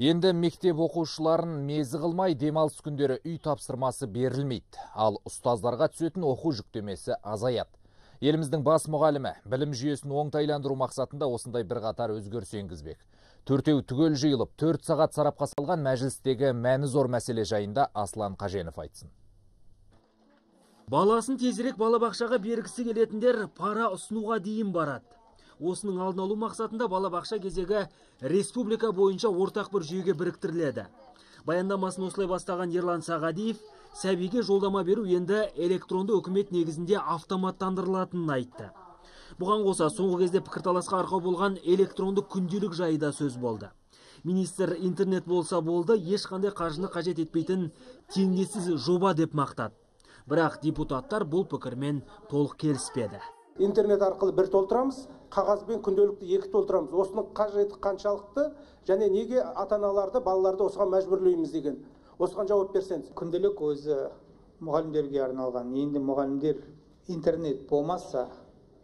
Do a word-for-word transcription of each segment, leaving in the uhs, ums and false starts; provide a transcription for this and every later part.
Енді мектеп оқушыларын мезі қылмай демалыс күндері үй тапсырмасы берілмейді, ал ұстаздарға түсетін оқу жүктемесі азаяды. Еліміздің бас мұғалімі білім жүйесін оңтайландыру мақсатында осындай бір қатар өзгеріс енгізбек. Төртеу түгел жиылып, төрт сағат сарапқа салған мәжілістегі мәні зор мәселе жайында Аслан Қаженов айтсын. Баласын тезірек балабақшаға бергісі келетіндер пара ұсынуға дейін барады. Осының алдын алу мақсатында балабақша кезегі республика бойынша ортақ бір жүйеге біріктіріледі. Баяндамасын осылай бастаған Ерлан Сағадиев, сәбиге жолдама беру енді электронды үкімет негізінде автоматтандырылатынын айтты. Бұған қоса соңғы кезде пікірталасқа арқау болған электронды күнделік жайы да сөз болды. Министр интернет болса болды, ешқандай қаржыны қажет етпейтін теңдессіз жоба деп мақтады. Бірақ депутаттар бұл пікірмен толық келіспеді. Интернет арқылы бір толтырамыз, қағазбен күнделікті екі толтырамыз. Осының қажеті қаншалықты және неге ата-аналарды, балаларды осыған мәжбүрлейміз деген. Осыған жауап берсеңіз. Күнделік өзі мұғалімдерге арналған. Енді мұғалімдер интернет болмаса,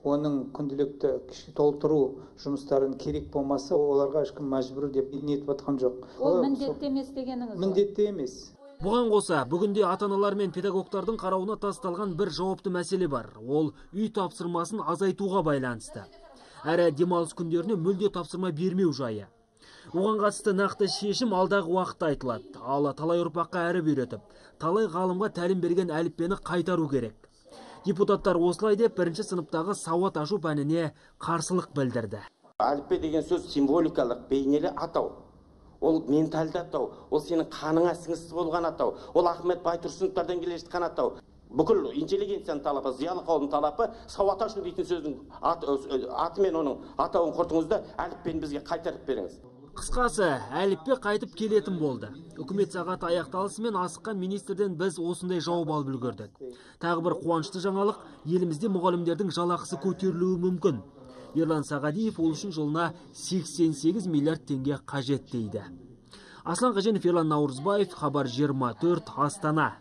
оның күнделікті толтыру жұмыстарын керек болмаса, оларға ешкім мәжбүр деп нетіп атқан жоқ. Ол міндетті емес дегеніңіз? Міндетті емес. Бұған қоса, бүгінде ата-аналар мен педагогтардың қарауына тасталған бір жауапты мәселе бар. Ол үй тапсырмасын азайтуға байланысты. Әрі демалыс күндеріне мүлде тапсырма бермеу жайы. Оған қатысты нақты шешім алдағы уақытта айтылады. Ал талай ұрпаққа әріп үйретіп, талай ғалымға тәлім берген әліппені қайтару керек. Депутаттар осылай деп бірінші сыныптағы сауат ашу пәніне қарсылық білдірді. Әліппе деген сөз символикалық, бейнелі атау. Ол менталды атау, ол сенің қаныңа сіңісті болған атау, ол Ахмет Байтұрсыновтардан келе жатқан атау. Бүкіл интеллигенцияның талапы, зиялы қауымның талапы сауат ашу дейтін сөздің аты мен оның атауын құртыңызда әліппені бізге қайтарып беріңіз. Қысқасы, әліппе қайтып келетін болды. Үкімет сағаты аяқталысымен асыққан министрден біз осындай жауап алып үлгердік. Тағы бір қуанышты жаңалық, елімізде мұғалімдердің жалақысы көтерілуі мүмкін. Ерлан Сағадиев ол үшін жылына сексен сегіз миллиард теңге қажет дейді. Аслан Қаженов, Ерлан Наурызбаев, Хабар жиырма төрт, Астана.